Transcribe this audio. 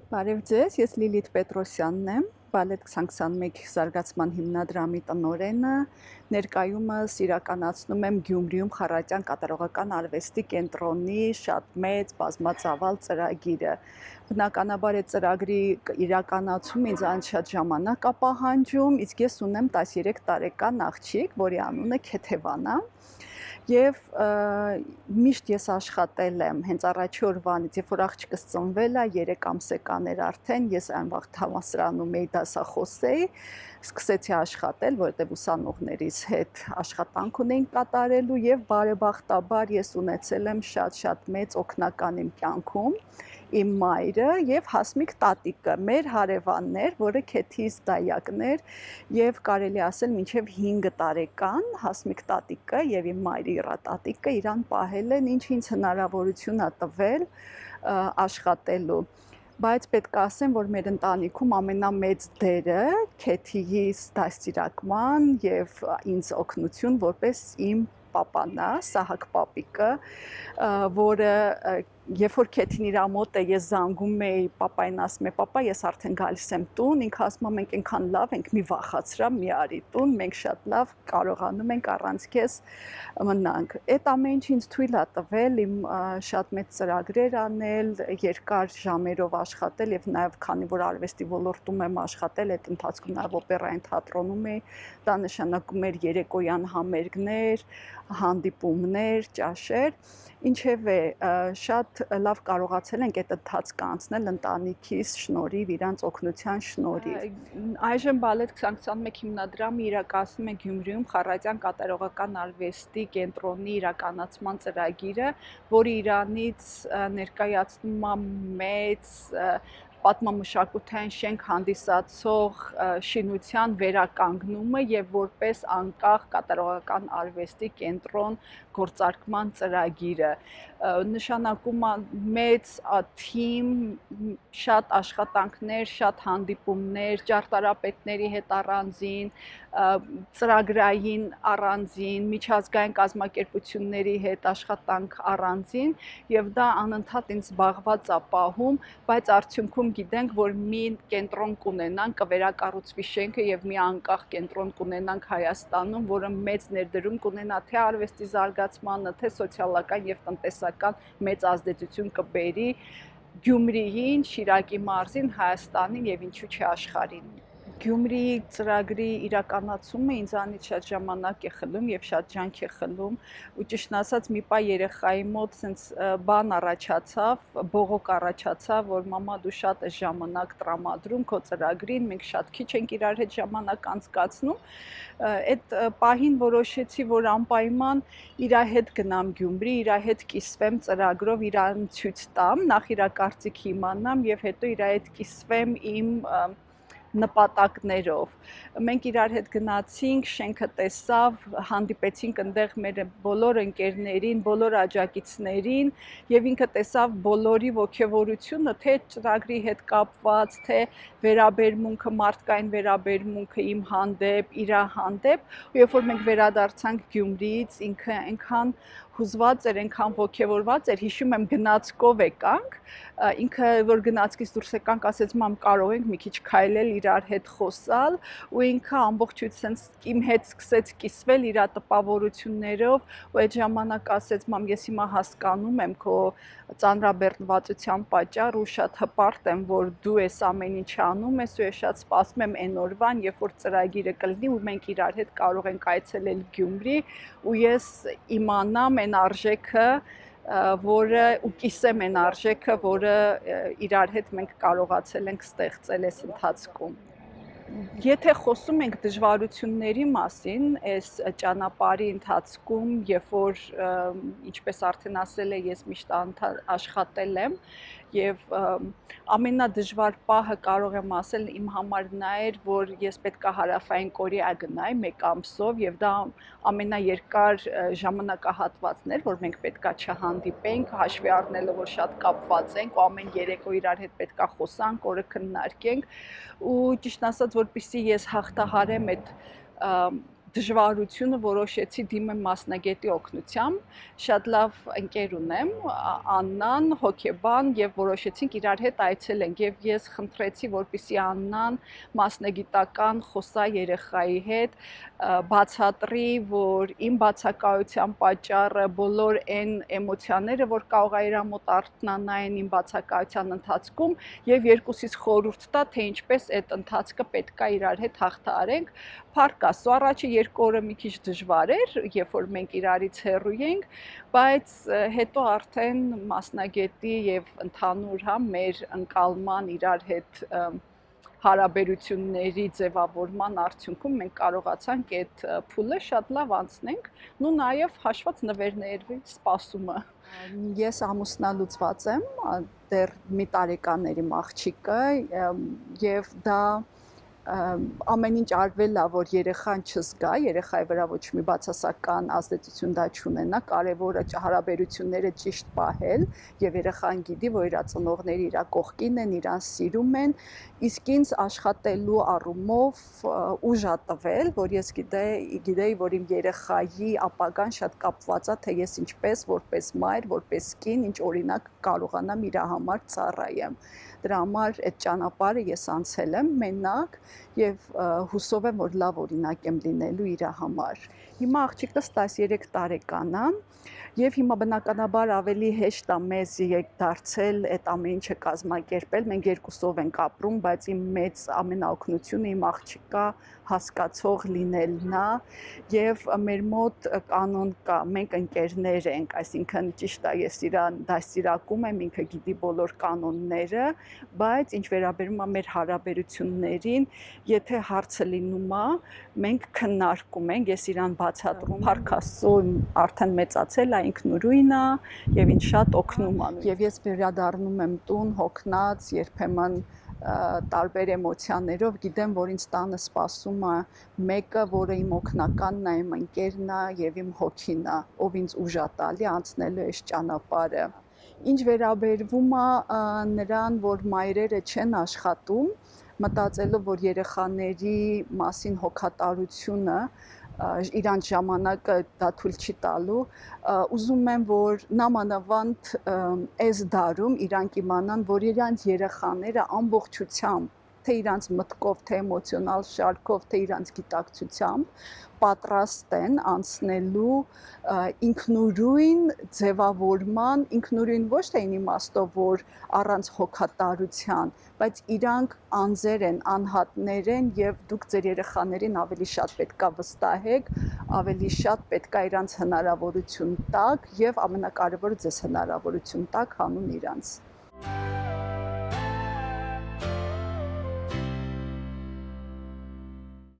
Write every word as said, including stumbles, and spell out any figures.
Բարև ձեզ, ես Լիլիթ Պետրոսյանն եմ, Բալետ քսանքսանմեկ զարգացման հիմնադրամի տնօրենը, ներկայումս իրականացնում եմ Գյումրիում Խառատյան կատարողական արվեստի կենտրոնի շատ մեծ բազմածավալ ծրագիրը։ Բնականաբար այդ ծրագրի իրականացումը ինձ շատ ժամանակ է պահանջում, իսկ ես ունեմ տասներեք տարեկան աղջիկ, որի անունը Քեթևան է։ Եվ միշտ ես աշխատել եմ հենց առաջի օրվանից, երբ որ աղջիկս ծնվել է, երեք ամսական էր արդեն, ես այն վաղ համալսարանում էի դասախոս էի, սկսեցի աշխատել, որովհետև ուսանողներից հետ աշխատանք ունեինք կատարելու եւ բարեբախտաբար ես ունեցել եմ շատ-շատ մեծ օգնական իմ կյանքում, իմ մայրը եւ Հասմիկ տատիկը, մեր հարևաններ, որը Քեթիս դայակն էր եւ կարելի ասել մինչեւ հինգ տարեկան Հասմիկ տատիկը եւ իմ մայրի տատիկը իրան պահել են, ինչ ինձ հնարավորություն է տվել աշխատելու։ Բայց պետք է ասեմ, որ մեր ընտանիքում ամենամեծ դերը Քեթիի դաստիարակման եւ ինձ օգնություն որպես իմ պապան է, Սահակ պապիկը, որը երբ որ Քեթին իր մոտ է, ես զանգում էի, պապային ասում է, պապա, ես արդեն գալիս եմ տուն, ինքը ասում է, մենք այնքան լավ ենք, մի վախացրա, մի արի տուն, մենք շատ լավ կարողանում ենք առանց քեզ մնանք։ Այդ ամեն ինչ ինձ թույլ է տվել իմ շատ մեծ ծրագրեր անել, երկար ժամերով աշխատել եւ նաեւ քանի որ արվեստի ոլորտում եմ աշխատել, այդ ընթացքում նաեւ օպերային թատրոնում էի, դա նշանակում էր երեկոյան համերգներ, հանդիպումներ, ճաշեր, ինչևէ շատ լավ կարողացել ենք այդ ընթացքը անցնել ընտանիքիս շնորհիվ, իրանց օգնության շնորհիվ։ Այժմ Բալետ քսանքսանմեկ հիմնադրամը իրականացնում է Գյումրիում Խառատյան կատարողական արվեստի կենտրոնի իրականացման ծրագիրը, որը Իրանից ներկայացնում է մեծ պատմամշակութային շենք հանդիսացող շինության վերականգնումը եւ որպես անկախ կատարողական արվեստի կենտրոն գործարկման ծրագիրը նշանակում է մեծ թիմ, շատ աշխատանքներ, շատ հանդիպումներ, ճարտարապետների հետ առանձին, ծրագրային առանձին, միջազգային կազմակերպությունների հետ աշխատանք առանձին եւ դա անընդհատ ինձ զբաղված է պահում, բայց արդյունքում գիտենք, որ մի կենտրոն կունենանք, կվերակառուցվի շենքը եւ մի անկախ կենտրոն կունենանք Հայաստանում, որը մեծ ներդրում կունենա թե արվեստի զարգացմանը, թե սոցիալական եւ տնտեսական մեծ ազդեցություն կբերի Գյումրիին, Շիրակի մարզին, Հայաստանին եւ ինչու՞ չէ աշխարհին։ Գյումրիի ծրագրի իրականացումը ինձանից շատ ժամանակ է խլում եւ շատ ջանք է խլում ու ճիշտն ասած մի պահ երեխայի մոտ sense բան առաջացավ, բողոք առաջացավ, որ մամա դու շատ ես ժամանակ տրամադրում քո ծրագրին, մենք շատ քիչ ենք իրար հետ ժամանակ անցկացնում։ Այդ պահին որոշեցի, որ անպայման իր հետ գնամ Գյումրի, իր հետ կիսվեմ ծրագրով, իրան ցույց տամ, նախ իր կարծիքը իմանամ եւ հետո իր հետ կիսվեմ իմ նպատակներով։ Մենք իրար հետ գնացինք, շենքը տեսավ, հանդիպեցինք այնտեղ մեր բոլոր ընկերներին, բոլոր աջակիցներին եւ ինքը տեսավ բոլորի ողջավորությունը, թե ծրագրի հետ կապված, թե վերաբերմունքը, մարդկային վերաբերմունքը իմ հանդեպ, իր հանդեպ, ու երբ որ մենք վերադարձանք Գյումրիից, ինքը այնքան հուզված էր, այնքան ողջավորված էր, հիշում եմ գնացքով եկանք, ինքը որ գնացքից դուրս եկանք, ասեց մամ կարող ենք մի քիչ քայլել իրար հետ խոսալ, ու ինքը ամբողջությամբ իմ հետ սկսեց կիսվել իր տպավորություններով, ու այդ ժամանակ ասեց մամ ես հիմա հասկանում եմ քո ծանրաբեռնվածության պատճառը ու շատ հպարտ եմ, որ դու ես ամեն ինչ անում ես, ու ես շատ սպասում եմ այն օրվան, երբ որ ծրագիրը կլինի ու մենք իրար հետ կարող ենք այցելել Գյումրի, ու ես իմանամ այն արժեքը, որը ու կիսեմ այն արժեքը, որը իրար հետ մենք կարողացել ենք ստեղծել այս ընթացքում։ Եթե խոսում ենք դժվարությունների մասին, այս ճանապարհի ընթացքում, երբ որ ինչպես արդեն ասել եմ, ես միշտ աշխատել եմ եւ ամենադժվար պահը կարող եմ ասել իմ համար նա էր, որ ես պետք է Հարավային Կորեա գնայի մեկ ամսով եւ դա ամենաերկար ժամանակահատվածն էր, որ մենք պետք է չհանդիպենք, հաշվի առնելով, որ շատ կապված ենք ու ամեն երեկո իրար հետ պետք է խոսանք, օրը քննարկենք ու ճիշտ ասած, որպեսզի ես հաղթահարեմ այդ դժվարությունը որոշեցի դիմեմ մասնագետի օգնությամբ, շատ լավ ընկեր ունեմ, Աննան, հոգեբան, եւ որոշեցինք իրար հետ այցելենք եւ ես խնդրեցի, որպեսզի Աննան մասնագիտական խոսա երեխայի հետ, բացատրի, որ իմ բացակայության պատճառը բոլոր այն էմոցիաները, որ կարող է իր մոտ արթնանային իմ բացակայության ընթացքում եւ երկուսից խորհուրդ տա, թե ինչպես այդ ընթացքը պետք է իրար հետ հաղթահարենք։ Փառք Աստծո, առաջի երկու օրը մի քիչ դժվար էր, երբ որ մենք իրարից հեռու էինք, բայց հետո արդեն մասնագետի եւ ընդհանուր հա մեր ընկալման իրար հետ հարաբերությունների ձևավորման արդյունքում մենք կարողացանք այդ փուլը շատ լավ անցնենք, ու նաեւ հաշված նվերների սպասումը։ Ես ամուսնալուծված եմ, դեռ մի տարեկանների աղջիկը եւ դա ամեն ինչ արվել է, որ երեխան չզգա, երեխայի վրա ոչ մի բացասական ազդեցություն դա չունենա, կարևորը հարաբերությունները ճիշտ պահել եւ երեխան գիտի, որ իր ծնողները իր կողքին են, իրան սիրում են, իսկ ինձ աշխատելու առումով ուժ ա տվել, որ ես գիտեի, գիտեի, որ իմ երեխայի ապագան շատ կապված է, թե ես ինչպես, որպես մայր, որպես կին, ինչ օրինակ կարողանամ իր համար ծառայեմ։ Դրա համար այդ ճանապարհը ես անցել եմ մենակ եւ հուսով եմ, որ լավ օրինակ եմ լինելու իր համար։ Հիմա աղջիկս տասներեք տարեկան է եւ հիմա բնականաբար ավելի հեշտ է մեզ դարձել այդ ամեն ինչը կազմակերպել։ Մենք երկուսով ենք ապրում, բայց իմ մեծ ամենաօգնությունը իմ աղջիկա հասկացող լինելն է եւ մեր մոտ կանոն կա, մենք ընկերներ ենք, այսինքն ճիշտ է, ես իրան դաստիարակում եմ, ինքը գիտի բոլոր կանոնները, բայց ինչ վերաբերում է մեր հարաբերություններին, եթե հարցը լինում է, մենք քննարկում ենք, ես իրան բացատրում, Փառք Աստծո, արդեն մեծացել է, ինքնուրույն է եւ ինձ շատ օգնում է։ Եվ ես վերադառնում եմ տուն հոգնած, երբեմն տարբեր էմոցիաներով, գիտեմ, որ ինձ տանը սպասում է մեկը, որը իմ օգնականն է, իմ ընկերն է եւ իմ հոգին է, ով ինձ ուժ է տալի անցնելու այս ճանապարհը։ Ինչ վերաբերվում է նրան, որ մայրերը չեն աշխատում, մտածելով, որ երեխաների մասին հոգատարությունը իրանց ժամանակը դա թույլ չի տալու, ուզում եմ, որ նամանավանդ այս դարում իրանք իմանան, որ իրանց երեխաները ամբողջությամբ, թե իրանց մտքով, թե էմոցիոնալ շարքով, թե իրանց գիտակցությամբ պատրաստ են անցնելու ինքնուրույն ձևավորման, ինքնուրույն ոչ թե այն իմաստով, որ առանց հոգատարության, բայց իրանք անձեր են, անհատներ են եւ դուք ձեր երեխաներին ավելի շատ պետքա վստահեք, ավելի շատ պետքա իրանց հնարավորություն տաք եւ ամենակարևորը ձեզ հնարավորություն տաք հանուն իրանց։